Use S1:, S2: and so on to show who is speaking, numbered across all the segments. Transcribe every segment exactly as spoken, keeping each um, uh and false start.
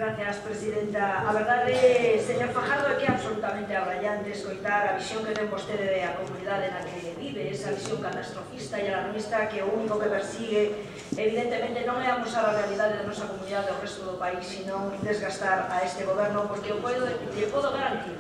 S1: Gracias, Presidenta. A verdade, señor Fajardo, é que é absolutamente abrallante escoitar a visión que ten vostede da comunidade na que vive, esa visión catastrofista e alarmista que o único que persigue, evidentemente, non é amosar a realidade da nosa comunidade ao resto do país, sino desgastar a este goberno, porque eu lle podo garantir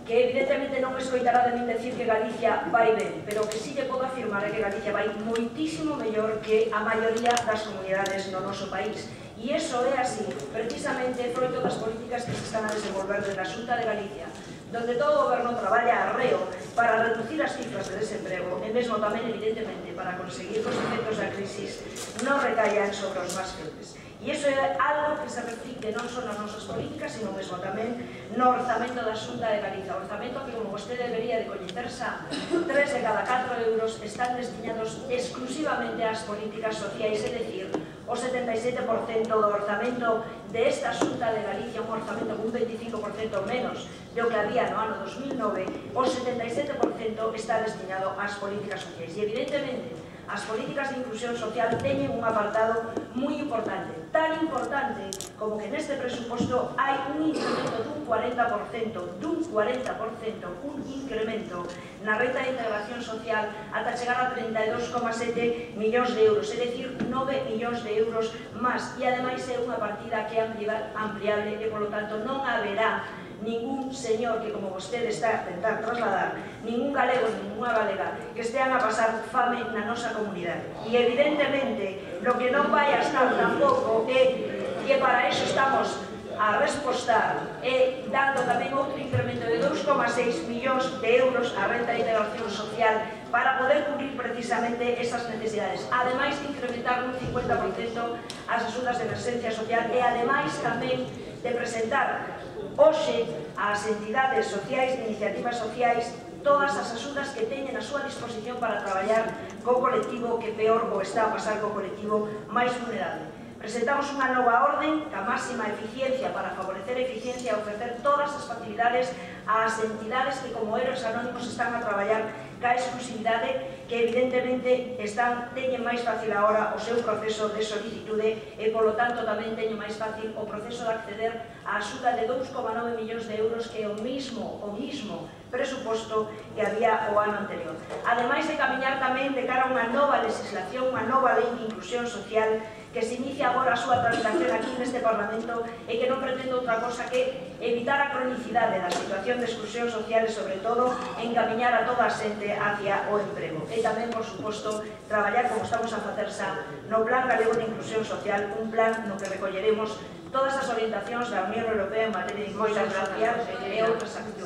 S1: que evidentemente non escoitará de min decir que Galicia vai ben, pero que si lle podo afirmar é que Galicia vai moitísimo mellor que a maioría das comunidades no noso país. E iso é así, precisamente froito das políticas que se están a desenvolver desde a Xunta de Galicia, donde todo o goberno traballa arreo para reducir as cifras de desemprego e mesmo tamén, evidentemente, para conseguir que os efectos da crisis non recaian sobre os máis febles. E iso é algo que se reflicte non só nas nosas políticas, sino mesmo tamén no orzamento da Xunta de Galicia. O orzamento que, como vostede debería de coñecer, xa tres de cada catro euros están destinados exclusivamente ás políticas sociais, é dicir, o setenta e sete por cento do orzamento desta Xunta de Galicia, un orzamento con un veinticinco por cento menos do que había no ano dos mil nove, o setenta e sete por cento está destinado ás políticas sociais. E, evidentemente, as políticas de inclusión social teñen un apartado moi importante, tan importante como que neste presuposto hai un incremento dun cuarenta por cento, dun cuarenta por cento, un incremento na renta de integración social ata chegar a treinta e dos coma sete millóns de euros, é dicir, nove millóns de euros máis, e ademais é unha partida que é ampliable e, polo tanto, non haberá ningún señor que, como vostede está a tentar trasladar, ningún galego, ninguna galega, que estean a pasar fame na nosa comunidade. E, evidentemente, lo que non vai a estar tampouco é que para eso estamos a respostar e dando tamén outro incremento de dous coma seis millóns de euros á renta de integración social para poder cubrir precisamente esas necesidades. Ademais de incrementar un cincuenta por cento as axudas de emerxencia social e, ademais, tamén de presentar hoxe ás entidades sociais, de iniciativas sociais, todas as axudas que teñen a súa disposición para traballar co colectivo que peor o está a pasar co colectivo máis vulnerable. Presentamos unha nova orden ca máxima eficiencia para favorecer a eficiencia e ofrecer todas as facilidades ás entidades que, como Héroes Anónimos, están a traballar ca exclusividade, que evidentemente están, teñen máis fácil agora o seu proceso de solicitude e, polo tanto, tamén teñen máis fácil o proceso de acceder á axuda de dous coma nove millóns de euros que é o mismo, o mismo presuposto que había o ano anterior. Ademais de camiñar tamén de cara a unha nova legislación, unha nova lei de inclusión social que se inicia agora a súa tramitación aquí neste Parlamento e que non pretende outra cosa que evitar a cronicidade da situación de exclusión social e, sobre todo, encamiñar a toda a xente hacia o emprego. E tamén, por suposto, traballar, como estamos a facer xa, no Plan Galego de Inclusión Social, un plan no que recolleremos todas as orientacións da Unión Europea en materia de inclusión social e outras accións.